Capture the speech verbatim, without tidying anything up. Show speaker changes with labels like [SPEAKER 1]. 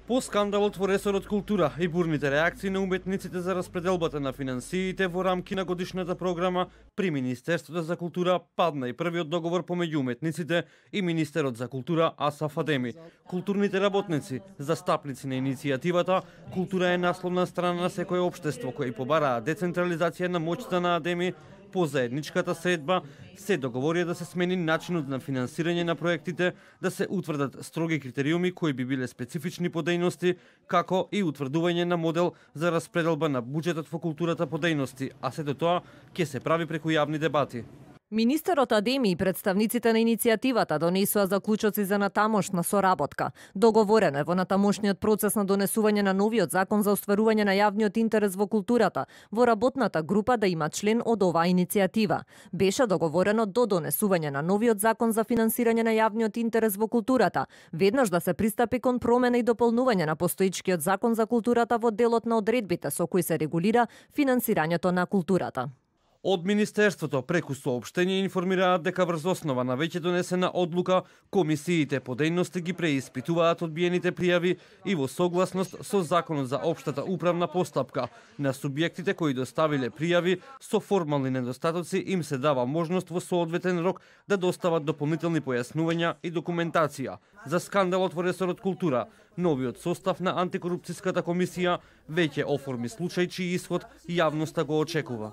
[SPEAKER 1] По скандалот во ресорот култура и бурните реакции на уметниците за распределбата на финансиите во рамки на годишната програма, при Министерството за култура падна и првиот договор помеѓу уметниците и Министерот за култура Асаф Адеми. Културните работници, застапници на иницијативата, култура е насловна страна на секое општество кои побараа децентрализација на моќта на Адеми. По заедничката средба се договорија да се смени начинот на финансирање на проектите, да се утврдат строги критериуми кои би биле специфични по дејности, како и утврдување на модел за распределба на буџетот во културата по дејности, а сето тоа ќе се прави преку јавни дебати.
[SPEAKER 2] Министерот Адеми и представниците на иницијативата донесоа заклучоци за натамошна соработка. Договорено е во натамошниот процес на донесување на новиот закон за остварување на јавниот интерес во културата, во работната група да има член од оваа иницијатива. Беше договорено до донесување на новиот закон за финансирање на јавниот интерес во културата, веднаш да се пристапи кон промена и дополнување на постоечкиот закон за културата во делот на одредбите со кои се регулира финансирањето на културата.
[SPEAKER 1] Од Министерството преку соопштение информираат дека врз основа на веќе донесена одлука, комисиите по дејности ги преиспитуваат одбиените пријави и во согласност со Законот за општата управна постапка на субјектите кои доставиле пријави со формални недостатоци им се дава можност во соодветен рок да достават дополнителни појаснувања и документација. За скандалот во ресорот култура, новиот состав на антикорупцијската комисија веќе оформи случај чиј исход јавноста го очекува.